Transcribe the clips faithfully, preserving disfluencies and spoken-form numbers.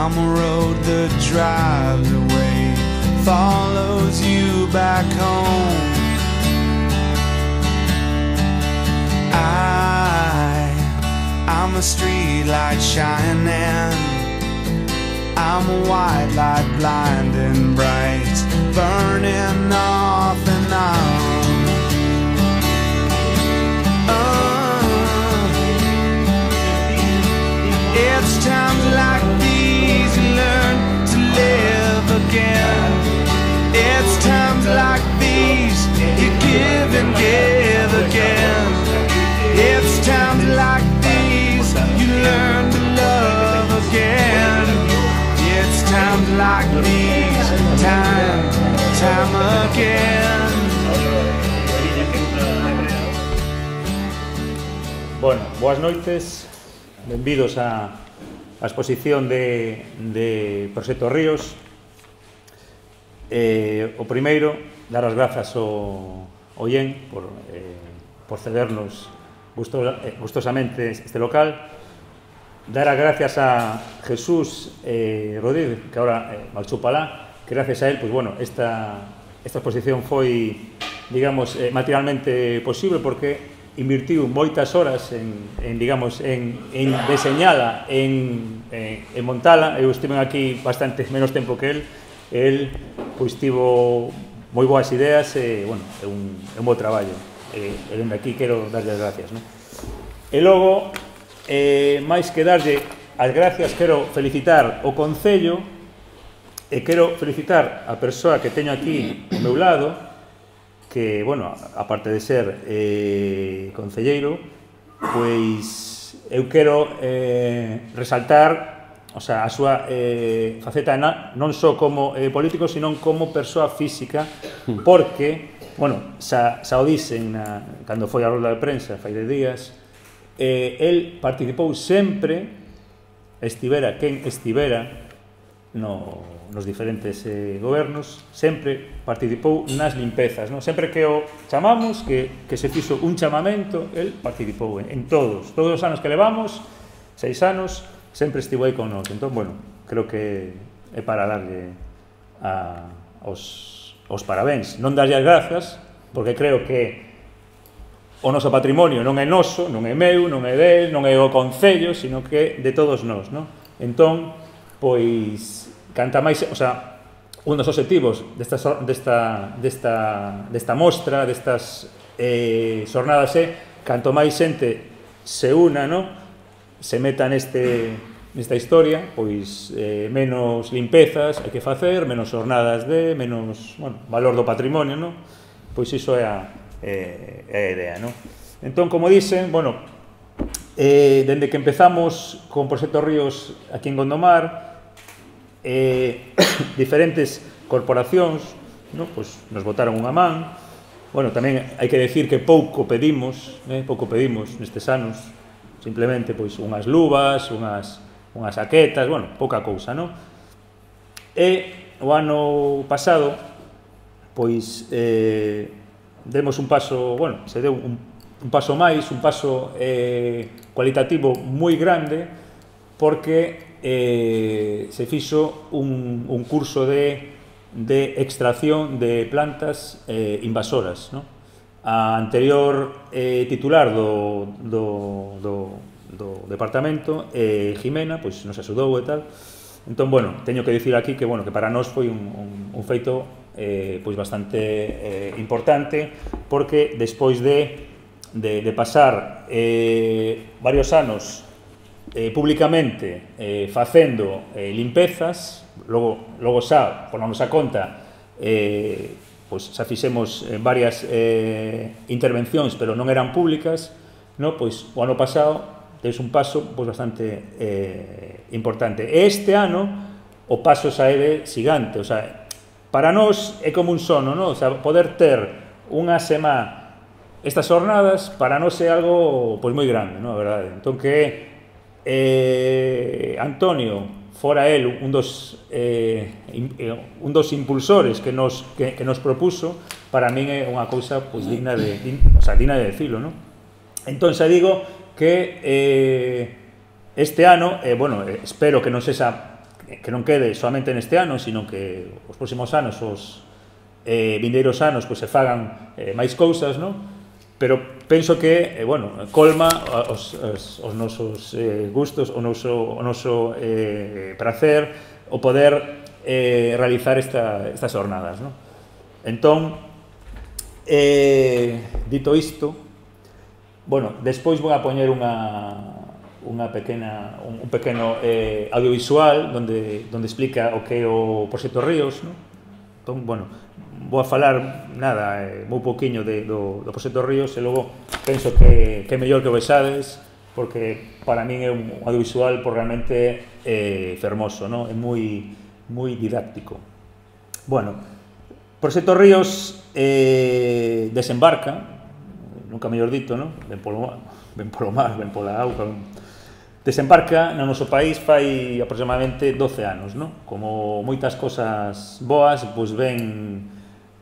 I'm a road that drives away, follows you back home. I, I'm a street light shining, I'm a white light blinding bright, burning off and on. Uh, it's times like these you learn to live again. It's times like these you give and give again. It's times like these you learn to love again. It's times like these, time, time again. Bueno, boas noites, benvidos a, a exposición de, de Proxecto Ríos. Eh, o primeiro, dar as grazas ao, ao I E N por, eh, por cedernos gusto, eh, gustosamente este local. Dar as gracias a Jesús eh, Rodríguez, que ahora eh, malchou palá, que gracias a él, pues bueno, esta, esta exposición foi, digamos, eh, materialmente posible porque invirtiu moitas horas en, en digamos, en, en deseñala, en, en, en montala. Eu estive aquí bastante menos tempo que él. El, pois, tivo moi boas ideas e, bueno, é un, é un bo traballo. E, e dende aquí quero darlle as gracias, non? E logo, eh, máis que darlle as gracias, quero felicitar o Concello e quero felicitar a persoa que teño aquí ao meu lado, que, bueno, aparte de ser eh, concelleiro, pois eu quero eh, resaltar, o sea, a súa eh, faceta na, non só como eh, político, sino como persoa física, porque, bueno, xa, xa o dixen na, cando foi a rolda de prensa, fai de días, eh, el participou sempre, estivera quen estivera no, nos diferentes eh, gobernos, sempre participou nas limpezas, no? Sempre que o chamamos, que, que se fixo un chamamento, el participou en, en todos, todos os anos que levamos, seis anos, sempre estivo aí con nos. Entón, bueno, creo que é para darlle a, os, os parabéns, non darlle as grazas, porque creo que o noso patrimonio non é noso, non é meu, non é del, non é o Concello, sino que de todos nós, non? Entón, pois, canta máis, o sea, un dos objetivos desta, desta, desta, desta mostra, destas eh, xornadas é, canto máis xente se una, non? Se meta neste, nesta historia, pois eh, menos limpezas hai que facer, menos xornadas de, menos, bueno, valor do patrimonio, non? Pois iso é a, eh, é a idea, non? Entón, como dicen, bueno, eh, dende que empezamos con Proxecto Ríos aquí en Gondomar, eh, diferentes corporacións, non? Pois nos botaron unha man. Bueno, tamén hai que decir que pouco pedimos, eh, pouco pedimos nestes anos, simplemente pois unhas luvas, unhas, unhas saquetas, bueno, pouca cousa, non? E o ano pasado, pois, eh, demos un paso, bueno, se deu un, un paso máis, un paso eh, cualitativo moi grande, porque eh, se fixo un, un curso de, de extracción de plantas eh, invasoras, non? A anterior eh, titular do, do, do, do departamento, eh, Jimena, pois nos axudou e tal. Entón, bueno, teño que dicir aquí que, bueno, que para nós foi un, un, un feito eh, pois bastante eh, importante, porque despois de, de, de pasar eh, varios anos eh, públicamente eh, facendo eh, limpezas, logo, logo xa, por nosa conta, eh, pois xa fixemos eh, varias eh, intervencións, pero non eran públicas, no? Pois o ano pasado tens un paso pois bastante eh, importante. E este ano o paso xa é de xigante, o sea, para nós é como un sono, no? O sea, poder ter unha semana estas jornadas para nós é algo pois moi grande, no? A verdade. Entón que eh, Antonio fora el un dos eh, un dos impulsores que nos que, que nos propuso, para min é unha cousa pois digna de, o sea, digna de decirlo, no? Entón xa digo que eh, este ano, eh, bueno, espero que non sexa que non quede solamente neste ano, sino que os próximos anos, os eh, vindeiros anos, pois se fagan eh, máis cousas, non? Pero penso que, eh, bueno, colma os, os, os nosos eh, gustos, o noso, o noso eh, prazer, o poder eh, realizar esta, estas jornadas, non? Entón, eh, dito isto, bueno, despois vou a poñer unha unha pequena, un, un pequeno eh, audiovisual donde, donde explica o que é o Proxecto Ríos, non? Entón, bueno, vou a falar, nada, eh, moi pouquiño de, do, do Proxecto Ríos e logo penso que, que é mellor que o vexades porque para min é un audiovisual por realmente eh, fermoso, non? É moi, moi didáctico. Bueno, Proxecto Ríos eh, desembarca, nunca mellor dito, non? Ben polo, ben polo mar, ben pola auga, ben... desembarca no noso país fai aproximadamente doce anos, non? Como moitas cosas boas, pois ven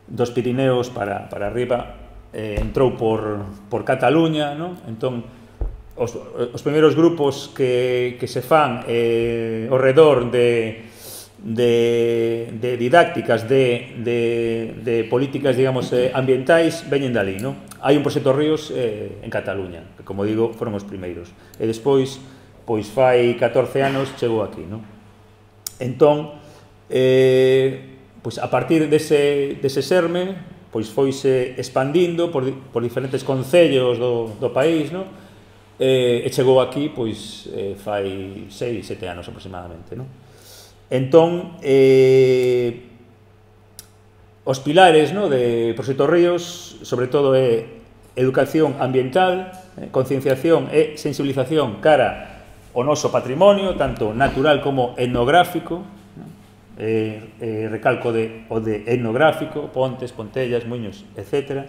dos Pirineos para, para arriba, eh, entrou por, por Cataluña, non? Entón, os, os primeiros grupos que, que se fan eh, ao redor de, de, de didácticas, de, de, de políticas, digamos, eh, ambientais, veñen dali, non? Hai un Proxecto Ríos eh, en Cataluña, que, como digo, foron os primeiros. E despois, pois fai catorce anos chegou aquí, non? Entón, eh, pois a partir dese, dese serme, pois foise expandindo por, por diferentes concellos do, do país, non? Eh, e chegou aquí, pois, eh, fai seis, sete anos aproximadamente, non? Entón, eh, os pilares, non, de Proxecto Ríos, sobre todo, é educación ambiental, eh, concienciación e sensibilización cara o noso patrimonio, tanto natural como etnográfico, eh, eh, recalco de, o de etnográfico, pontes, pontellas, muiños, etcétera.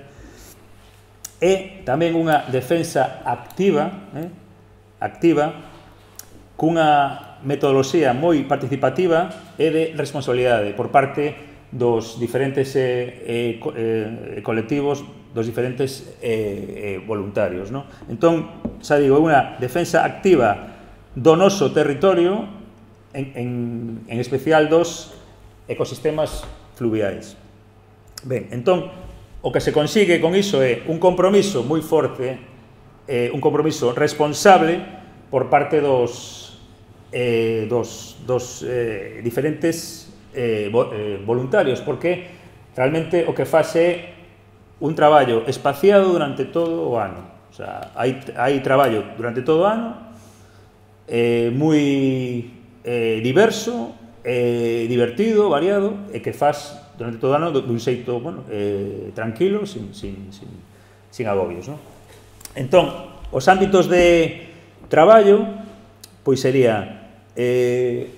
E tamén unha defensa activa, eh, activa, cunha metodoloxía moi participativa e de responsabilidade por parte dos diferentes eh, eh, colectivos, dos diferentes eh, eh, voluntarios, non? Entón, xa digo, é unha defensa activa do noso territorio, en, en, en especial dos ecosistemas fluviais. Ben, entón, o que se consigue con iso é un compromiso moi forte, eh, un compromiso responsable por parte dos, eh, dos, dos eh, diferentes eh, vo, eh, voluntarios, porque realmente o que faz é un traballo espaciado durante todo o ano. O sea, hai, hai traballo durante todo o ano, Eh, moi eh, diverso, eh, divertido, variado, e que faz durante todo o ano dun xeito, bueno, eh, tranquilo, sin, sin, sin, sin agobios, non? Entón, os ámbitos de traballo, pois sería eh,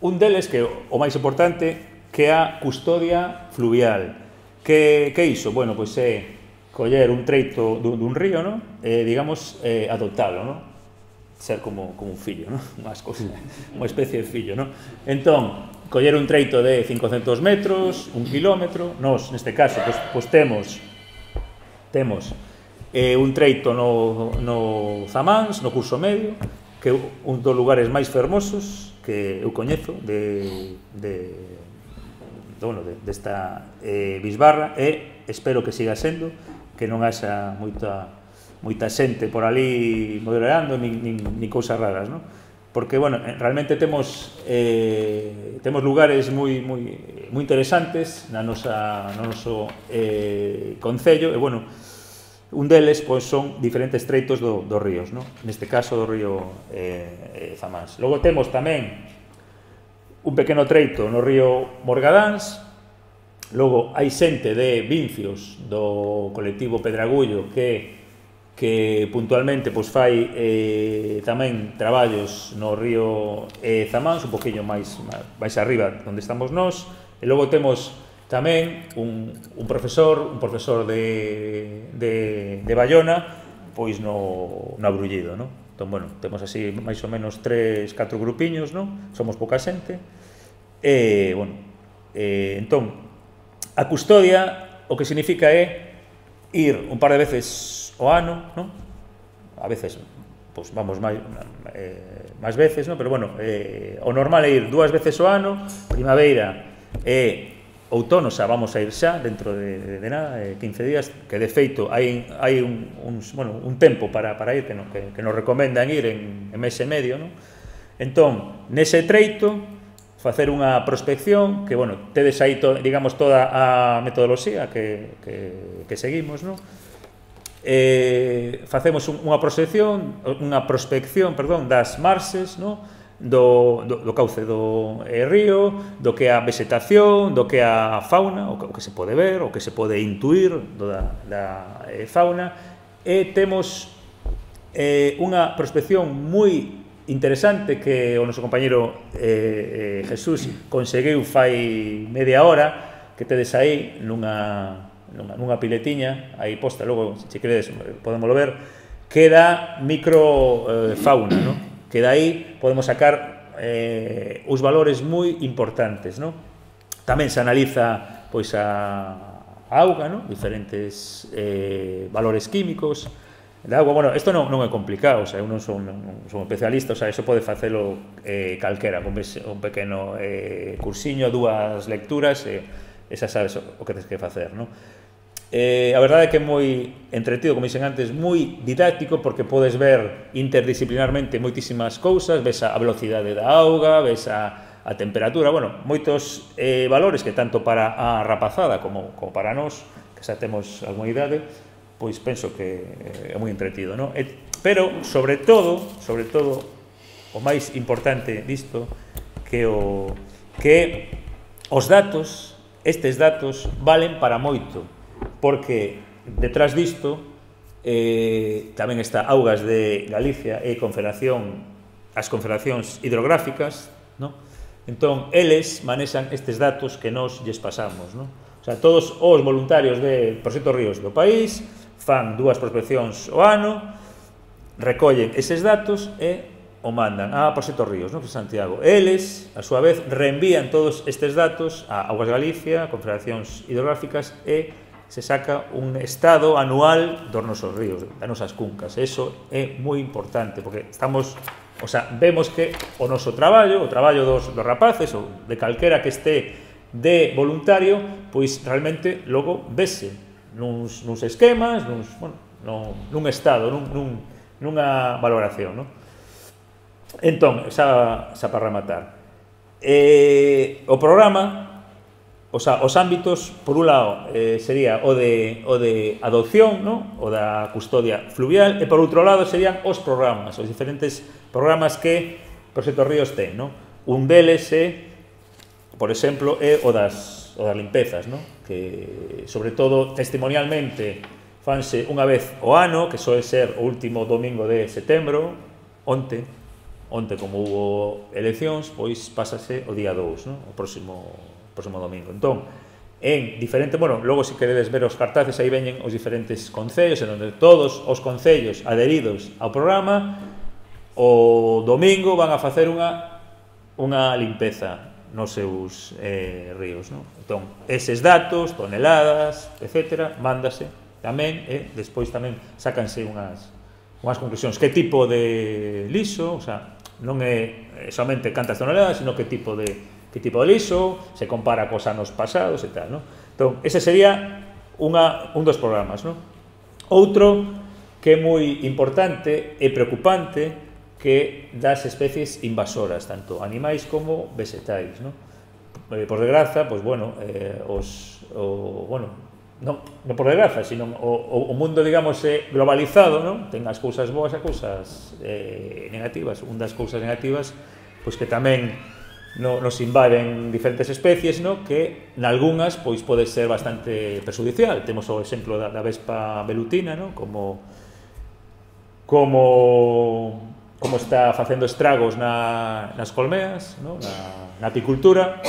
un deles, que é o máis importante, que é a custodia fluvial. Que, que é iso? Bueno, pois é coller un treito dun, dun río, non? E, digamos, eh, adoptalo, non? Ser como, como un fillo, non? Unhas cousas, unha especie de fillo, non? Entón, coller un treito de cincocentos metros, un kilómetro, nos, neste caso, pois, pois temos temos eh, un treito no, no Zamáns, no curso medio, que é un dos lugares máis fermosos que eu coñezo de, de, de, bueno, de, desta eh, bisbarra, e espero que siga sendo, que non haxa moita moita xente por ali moderando, nin, nin, nin cousas raras, non? Porque, bueno, realmente temos eh, temos lugares moi, moi, moi interesantes na nosa, no noso eh, concello, e, bueno, un deles, pois, son diferentes treitos do, dos ríos, non? Neste caso, do río eh, Zamáns. Logo temos tamén un pequeno treito no río Morgadáns. Logo hai xente de Vincios do colectivo Pedragullo que que puntualmente pois fai eh, tamén traballos no río eh, Zamáns, un poquinho máis, máis arriba onde estamos nós, e logo temos tamén un, un profesor, un profesor de, de, de Bayona, pois no, no Abrullido, non? Entón, bueno, temos así máis ou menos tres, catro grupiños, non? Somos pouca xente, e, bueno, eh, entón, a custodia o que significa é ir un par de veces o ano, non? A veces pois vamos máis, eh, máis veces, no? Pero bueno, eh, o normal é ir dúas veces ao ano, primavera e outono, xa vamos a ir xa dentro de, de, de nada, eh, quince días, que de feito hai, hai un, un, bueno, un tempo para, para ir, que, no, que, que nos recomendan ir en, en mes e medio, no? Entón, nese treito, facer unha prospección, que, bueno, tedes aí, to, digamos, toda a metodoloxía que, que, que seguimos, no? Eh, facemos un, unha prospección, unha prospección, perdón, das marxes, no? do, do, do cauce do eh, río, do que a vegetación, do que a fauna, o que, o que se pode ver, o que se pode intuir do da, da eh, fauna, e temos eh, unha prospección moi interesante que o noso compañeiro eh, eh, Jesús conseguiu fai media hora, que tedes aí nunha, nunha, nunha piletiña, aí posta, logo, se queredes, podémoslo ver, que da microfauna, eh, no? Que dai podemos sacar eh, os valores moi importantes, no? Tamén se analiza pois a, a auga, no? Diferentes eh, valores químicos da auga. Bueno, isto non, non é complicado, o sea, eu non son, non son especialista, o sea, iso pode facelo eh, calquera, con un pequeno eh, cursiño, dúas lecturas, e eh, xa sabes o que tens que facer, no? Eh, a verdade é que é moi entretido, como dixen antes, moi didáctico, porque podes ver interdisciplinarmente moitísimas cousas, ves a velocidade da auga, ves a, a temperatura, bueno, moitos eh, valores que tanto para a rapazada como, como para nós, que xa temos algunha idade, pois penso que é moi entretido, non? E, pero, sobre todo, sobre todo, o máis importante disto, que o que os datos, estes datos, valen para moito, porque detrás disto eh, tamén está Augas de Galicia e Confederación, as confederacións hidrográficas, no? Entón, eles manexan estes datos que nós lles pasamos, no? O sea, todos os voluntarios de Proxecto Ríos do país fan dúas prospeccións ao ano, recollen eses datos e o mandan a Proxecto Ríos, no? Santiago. Eles, a súa vez, reenvían todos estes datos a Augas de Galicia, confederacións hidrográficas, e se saca un estado anual dos nosos ríos, das nosas cuncas. Eso é moi importante, porque estamos, o sea, vemos que o noso traballo, o traballo dos, dos rapaces, ou de calquera que este de voluntario, pois realmente logo vese nuns, nuns esquemas, nuns, bueno, no, nun estado, nun, nun, nunha valoración, no? Entón, xa, xa para rematar, eh, o programa, o sea, os ámbitos, por un lado, eh, sería o de, o de adopción, ¿no? O da custodia fluvial, e por outro lado serían os programas, os diferentes programas que Proxecto Ríos ten, ¿no? Un deles é, por exemplo, é o das, o das limpezas, ¿no? Que, sobre todo, testimonialmente, fanse unha vez ao ano, que soe ser o último domingo de setembro, onte, onte como hubo eleccións, pois pásase o día dous, ¿no? O próximo próximo domingo. Entón, en diferente, bueno, logo se queredes ver os cartaces, aí veñen os diferentes concellos, en onde todos os concellos adheridos ao programa o domingo van a facer unha unha limpeza nos seus eh, ríos, non? Entón, eses datos, toneladas, etcétera, mándase tamén, e despois tamén sácanse unhas unhas conclusións, que tipo de liso, o sea, non é somente cantas toneladas, sino que tipo de que tipo de liso, se compara cos anos pasados e tal, non? Entón, ese sería unha, un dos programas, non? Outro que é moi importante e preocupante, que das especies invasoras, tanto animais como vegetais, non? Eh, por desgraza, pois, bueno, eh, os, o, bueno, non, non por desgraza, sino o, o mundo, digamos, é globalizado, non? Ten as cousas boas e cousas eh, negativas. Un das cousas negativas, pois que tamén no, nos invaden diferentes especies, no? Que nalgúnas pois pode ser bastante perjudicial. Temos o exemplo da, da vespa velutina, no? Como como como está facendo estragos na, nas colmeas, no? na, na apicultura,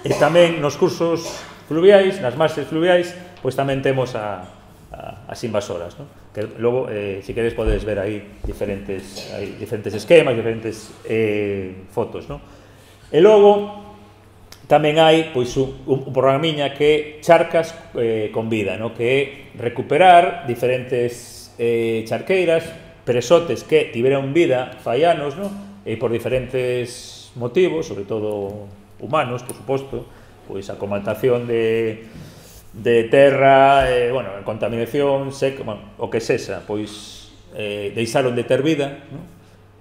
e tamén nos cursos fluviais, nas marxes fluviais, pois tamén temos a, a, as invasoras, no? Que logo, eh, se queres, podes ver aí diferentes, aí diferentes esquemas, diferentes eh, fotos, no? E logo tamén hai pois un, un programiña que é Charcas eh, con Vida, no? Que é recuperar diferentes eh, charqueiras presotes que tiveron vida fai anos, non? E por diferentes motivos, sobre todo humanos, por suposto, pois a comatación de, de terra, eh, bueno, contaminación, seca, bueno, o que sexa, pois eh, deixaron de ter vida, non?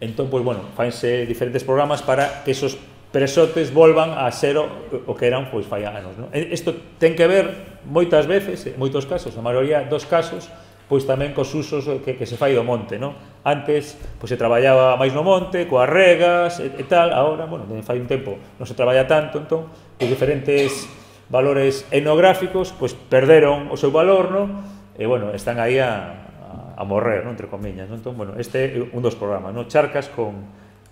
Entón, pois, bueno, faense diferentes programas para que esos presotes volvan a ser o, o que eran, pois, fai anos, non? Isto ten que ver, moitas veces, en moitos casos, a maioría dos casos, pois tamén cos usos que, que se fai do monte, non? Antes, pois se traballaba máis no monte, coas regas e, e tal, agora, bueno, fai un tempo non se traballa tanto, entón, os diferentes valores etnográficos, pois perderon o seu valor, non? E, bueno, están aí a, a, a morrer, non? Entre comillas, non? Entón, bueno, este é un dos programas, non? Charcas con,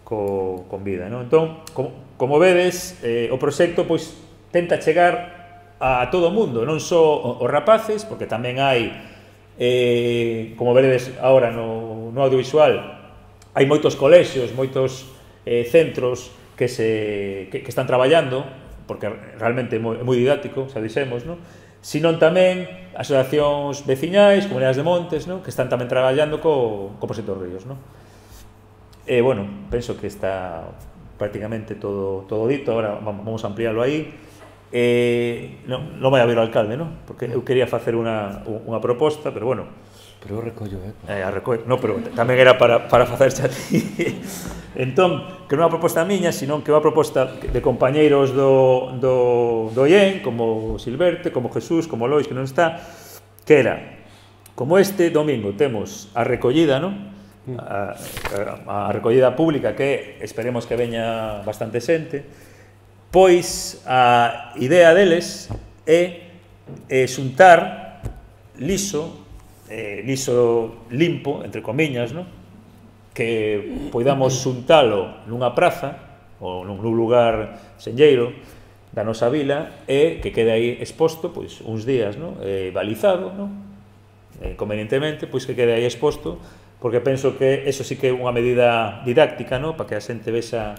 con, con vida, non? Entón, como, como vedes, eh, o proxecto, pois, tenta chegar a todo o mundo, non só os rapaces, porque tamén hai Eh, como veredes agora no, no audiovisual, hai moitos colexios, moitos eh, centros que, se, que, que están traballando, porque realmente é moi, moi didáctico, xa dixemos, non? Sinón tamén asociacións veciñais, comunidades de montes, non? Que están tamén traballando co, co proxecto Ríos, non? E, bueno, penso que está prácticamente todo, todo dito, agora vamos a ampliarlo aí. Eh, non, non vai a ver o alcalde, non? Porque eu quería facer unha, unha proposta, pero bueno. Pero eu recollo, eh? eh a recollo, non, pero tamén era para, para facerse a ti. Entón, que non é unha proposta miña, senón que é unha proposta de compañeiros do, do, do I E N, como Silverte, como Jesús, como Lois, que non está, que era, como este domingo temos a recollida, non? A, a, a recollida pública, que esperemos que veña bastante xente, pois a idea deles é, é xuntar liso, eh, liso limpo, entre comiñas, non? Que poidamos xuntalo nunha praza ou nun lugar senlleiro da nosa vila e que quede aí exposto, pois, uns días, non? Eh, balizado, non? Eh, convenientemente, pois que quede aí exposto, porque penso que eso sí que é unha medida didáctica, non? Para que a xente vexa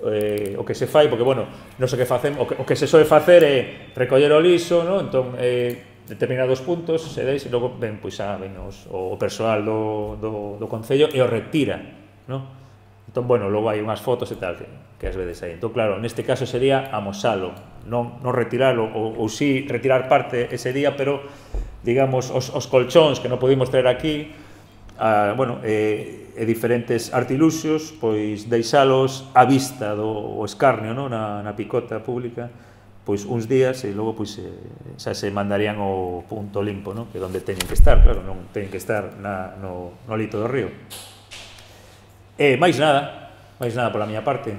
Eh, o que se fai, porque, bueno, non sei que facemos, o que, o que se soe facer é recoller o liso, non? Entón, eh, determinados puntos se deis e logo ven, pois, a, ven os, o persoal do, do, do Concello e o retira, non? Entón, bueno, logo hai unhas fotos e tal que, que as vedes aí. Entón, claro, neste caso sería amosalo, non, non retiralo, ou, ou sí retirar parte ese día, pero, digamos, os, os colchóns que non podimos traer aquí, a, bueno, e, e diferentes artiluxios, pois deixalos á vista do escarnio, non? Na, na picota pública, pois uns días e logo pois eh, xa se mandarían ao punto limpo, non? Que é onde teñen que estar, claro, non teñen que estar na, no, no lito do río. E máis nada, máis nada pola miña parte.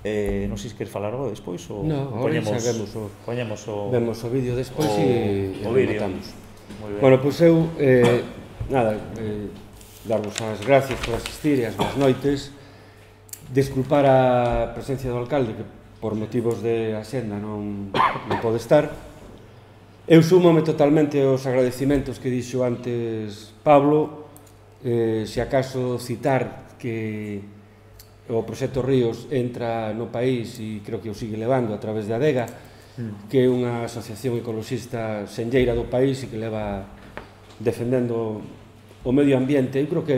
Eh, non sei se queres falar algo despois ou no, poñemos, xa vemos o, poñemos o, vemos o vídeo despois e, e rematamos. Bueno, pois pues eu eh, nada, eh, darvos as gracias por asistir e as boas noites, desculpar a presencia do alcalde que por motivos de axenda non, non pode estar. Eu súmome totalmente aos agradecimentos que dixo antes Pablo, eh, se acaso citar que o proxecto Ríos entra no país e creo que o sigue levando a través de Adega, mm. que é unha asociación ecoloxista senlleira do país e que leva defendendo o medio ambiente, eu creo que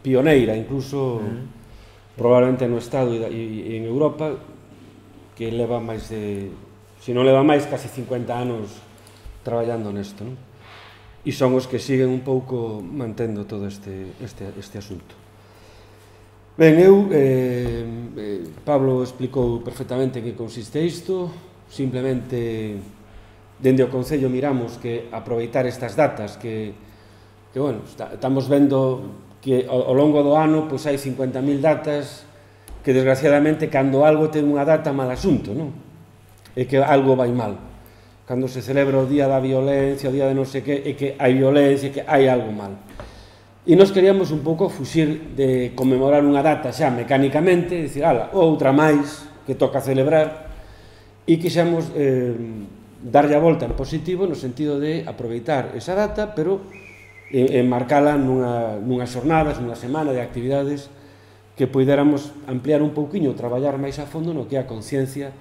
pioneira, incluso mm. probablemente no Estado e en Europa, que leva máis de, se non leva máis, casi cincuenta anos traballando nesto, non? E son os que siguen un pouco mantendo todo este, este, este asunto. Ben, eu, eh, eh, Pablo explicou perfectamente en que consiste isto, simplemente dende o Concello miramos que aproveitar estas datas que que, bueno, está, estamos vendo que ao, ao longo do ano pois hai cincuenta mil datas que, desgraciadamente, cando algo ten unha data, mal asunto, non? É que algo vai mal. Cando se celebra o día da violencia, o día de non sei que, é que hai violencia, que hai algo mal. E nos queríamos un pouco fuxir de conmemorar unha data xa mecánicamente, dicir, ala, outra máis que toca celebrar, e quixemos eh, darlle a volta en positivo no sentido de aproveitar esa data, pero e marcala nunha, nunhas xornadas, nunha semana de actividades que poidéramos ampliar un pouquiño, traballar máis a fondo no que é a conciencia,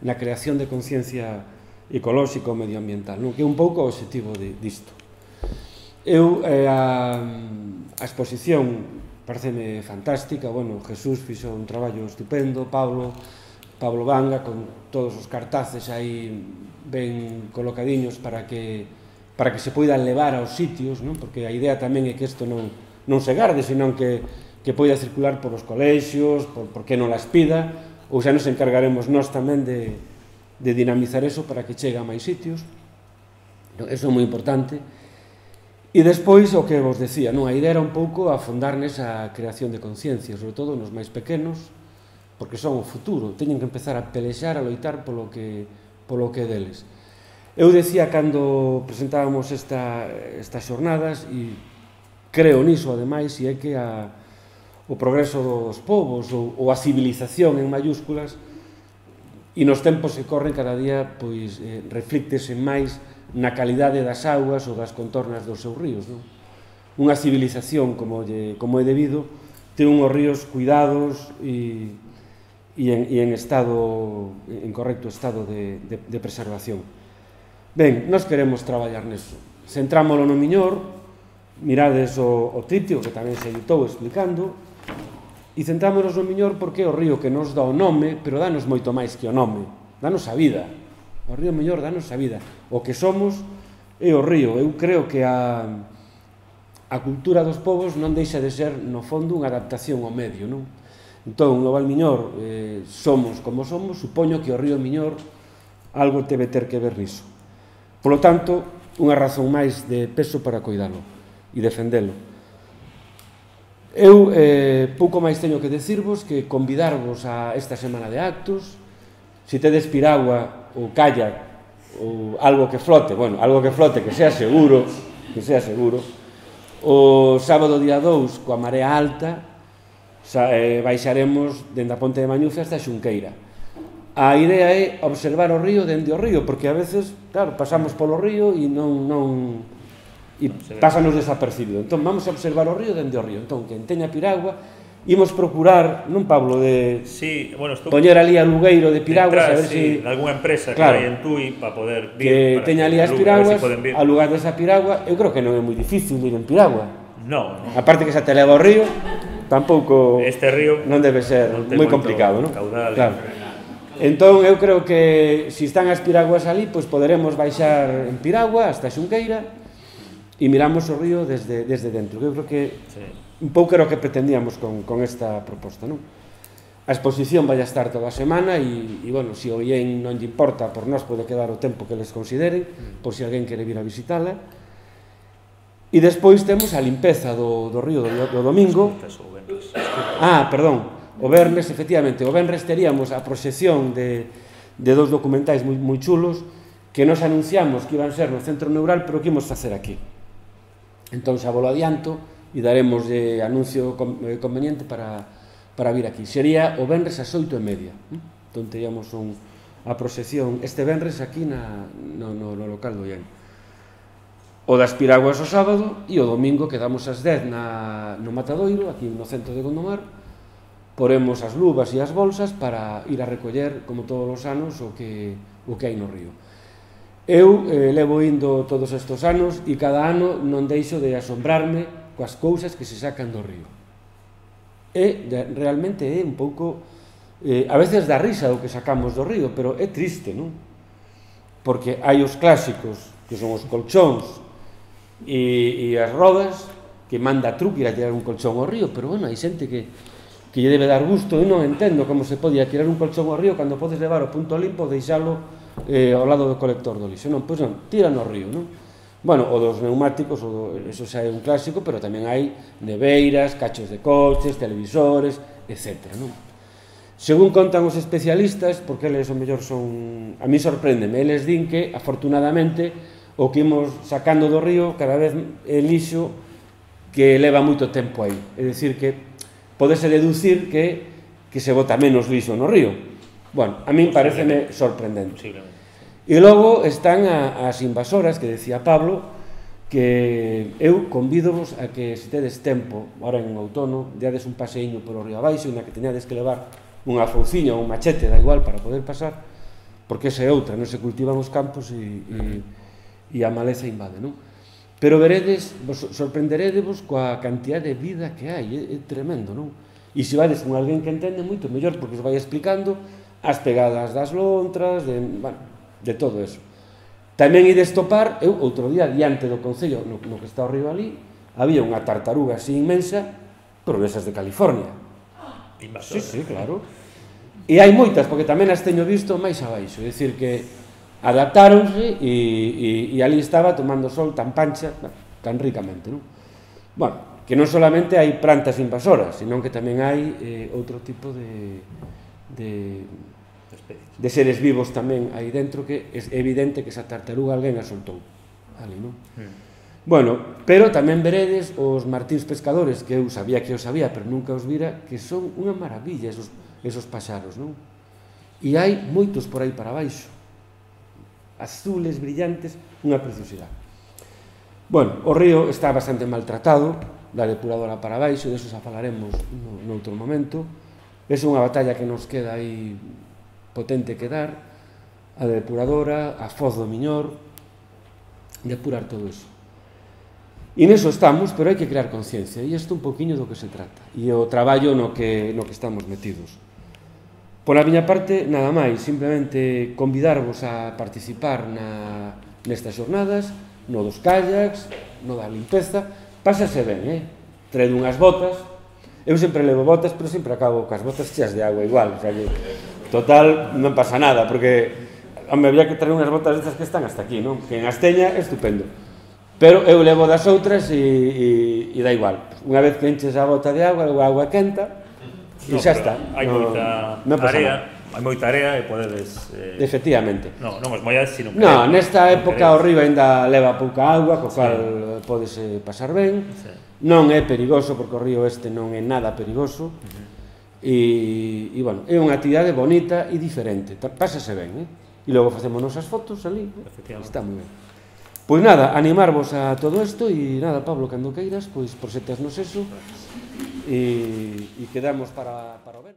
na creación de conciencia ecolóxica ou medioambiental, non? Que é un pouco o objetivo de, disto. Eu, eh, a, a exposición pareceme fantástica, bueno, Jesús fixo un traballo estupendo, Pablo, Pablo Vanga, con todos os cartaces aí ben colocadiños para que para que se poidan levar aos sitios, non? Porque a idea tamén é que isto non, non se garde, senón que, que poida circular por os colexios, por, por que non las pida, ou xa nos encargaremos nós tamén de, de dinamizar eso para que chegue a máis sitios. Eso é moi importante. E despois, o que vos decía, non? A idea era un pouco afondar nesa creación de conciencia, sobre todo nos máis pequenos, porque son o futuro, teñen que empezar a pelexar, a loitar polo que, polo que deles. Eu decía cando presentábamos esta, estas xornadas, e creo niso, ademais, e é que a, o progreso dos povos, ou, ou a civilización en mayúsculas, e nos tempos que corren cada día, pois, eh, reflíctese máis na calidade das augas ou das contornas dos seus ríos, non? Unha civilización como, lle, como é debido ten unhos ríos cuidados e, e, en, e en estado en correcto estado de, de, de preservación. Ben, nós queremos traballar neso. Centrámoslo no Miñor, mirades o, o tritio que tamén se editou explicando, e centrámonos no Miñor porque é o río que nos dá o nome, pero danos moito máis que o nome, danos a vida. O río Miñor danos a vida. O que somos é o río. Eu creo que a, a cultura dos povos non deixa de ser, no fondo, unha adaptación ao medio, non? Entón, no Valmiñor eh, somos como somos, supoño que o río Miñor algo debe ter que ver niso. Por lo tanto, unha razón máis de peso para coidalo e defendelo. Eu eh, pouco máis teño que decirvos que convidarvos a esta semana de actos. Se tedes piragua ou kayak ou algo que flote, bueno, algo que flote que sea seguro, que sea seguro. O sábado día dous, coa marea alta, baixaremos dende a Ponte de Mañufe hasta Xunqueira. A idea é observar o río dende o río, porque a veces, claro, pasamos polo río e non, non e pásanos desapercibido. Entón, vamos a observar o río dende o río. Entón, quen teña piragua, imos procurar, non, Pablo, de sí, bueno, poñer ali a lugueiro de piraguas, entrar, a ver sí, si... de alguna empresa claro, que hai en Tui para poder vir, que para teña ali as piraguas, si a lugar desa piragua. Eu creo que non é moi difícil ir en piragua. No, no. Aparte que se te leva ao río, tampouco este río non debe ser non moi complicado, non? Caudal, claro. Entón, eu creo que se si están as piraguas ali, pois poderemos baixar en piragua hasta Xunqueira e miramos o río desde, desde dentro. Eu creo que sí, un pouco era o que pretendíamos con, con esta proposta, non? A exposición vai a estar toda a semana e, e bueno, se o ien non lle importa, por nós pode quedar o tempo que les consideren, por se alguén quere vir a visitala. E despois temos a limpeza do, do río do, do domingo. Ah, perdón, o Vernes, efectivamente, o Vernes teríamos a proxección de, de dos documentais moi, moi chulos que nos anunciamos que iban ser no Centro Neural, pero que imos facer aquí. Entón, xa volo adianto, e daremos de anuncio conveniente para, para vir aquí. Sería o venres ás oito e media. Entón, teríamos un, a proxección este venres aquí na, no, no, no local do Ian. O das piraguas o sábado e o domingo quedamos ás dez na, no Matadoiro, aquí no centro de Gondomar. Poremos as luvas e as bolsas para ir a recoller, como todos os anos, o que, o que hai no río. Eu eh, levo indo todos estes anos e cada ano non deixo de asombrarme coas cousas que se sacan do río. E realmente é un pouco, eh, a veces dá risa o que sacamos do río, pero é triste, non? Porque hai os clásicos, que son os colchóns e, e as rodas, que manda truque ir a tirar un colchón ao río, pero bueno, hai xente que, que lle debe dar gusto. Eu non entendo como se podía tirar un colchón ao río cando podes levar o punto limpo e deixalo eh, ao lado do colector do lixo. Non, pois non, tira no río, non? Bueno, o dos neumáticos, o do, eso xa é un clásico, pero tamén hai neveiras, cachos de coches, televisores, etcétera, non? Según contan os especialistas, porque eles o mellor son... A mí sorpréndeme, eles din que, afortunadamente, o que imos sacando do río cada vez é lixo que leva moito tempo aí. É dicir, que podese deducir que, que se bota menos lixo no río. Bueno, a min pareceme sorprendente. E logo están a, as invasoras, que decía Pablo, que eu convídovos a que se tedes tempo, ahora en outono, deades un paseiño por o río abaixo, na que teñades que levar unha fouciña ou un machete, da igual, para poder pasar, porque esa é outra, non se cultivan os campos e, e, e a maleza invade, non? pero veredes, vos sorprenderedevos coa cantidad de vida que hai, é, é tremendo, non? E se vades con alguén que entende moito mellor, porque os vai explicando as pegadas das lontras, de, bueno, de todo eso. Tamén ides topar, eu outro día, diante do Concello, no, no que está ao río ali, había unha tartaruga así inmensa, pero desas de California. Sí, sí, claro. E hai moitas, porque tamén as teño visto máis abaixo, é dicir que adaptáronse e, e, e ali estaba tomando sol tan pancha, tan ricamente, non? Bueno, que non solamente hai plantas invasoras, senón que tamén hai eh, outro tipo de, de, de seres vivos tamén aí dentro, que é evidente que esa tartaruga alguén a soltou ali, non? Mm. Bueno, pero tamén veredes os martíns pescadores, que eu sabía que os sabía, pero nunca os vira, que son unha maravilla esos, esos paxaros, non? E hai moitos por aí para baixo, azules, brillantes, unha preciosidade. Bueno, o río está bastante maltratado, da depuradora para baixo, de eso xa falaremos no, no outro momento. É unha batalla que nos queda aí potente que dar, a depuradora, a foz do Miñor, depurar todo eso. E neso estamos, pero hai que crear conciencia, e isto un poquinho do que se trata, e o traballo no que, no que estamos metidos. Por a miña parte, nada máis, simplemente convidarvos a participar na, nestas xornadas, no dos kayaks, no da limpeza, pásase ben, eh? Traed unhas botas, eu sempre levo botas, pero sempre acabo cas botas cheas de agua igual, o sea que, total, non pasa nada, porque, home, había que traer unhas botas destas que están hasta aquí, non? Que en Asteña, estupendo. Pero eu levo das outras e, e, e dá igual. Unha vez que enches a bota de agua, a agua quenta, e xa está. Hai moita area, hai moita area e podedes... Efectivamente. Non, non os mollades, sino... Non, nesta época o río ainda leva pouca agua, co cal podese pasar ben. Non é perigoso, porque o río este non é nada perigoso. E, e, bueno, é unha actividade bonita e diferente. Pásase ben, eh? E logo facemos nosas fotos ali. Está moi ben. Pois nada, animarvos a todo isto e nada, Pablo, cando queiras, pois prosetasnos eso e, e quedamos para, para o ver.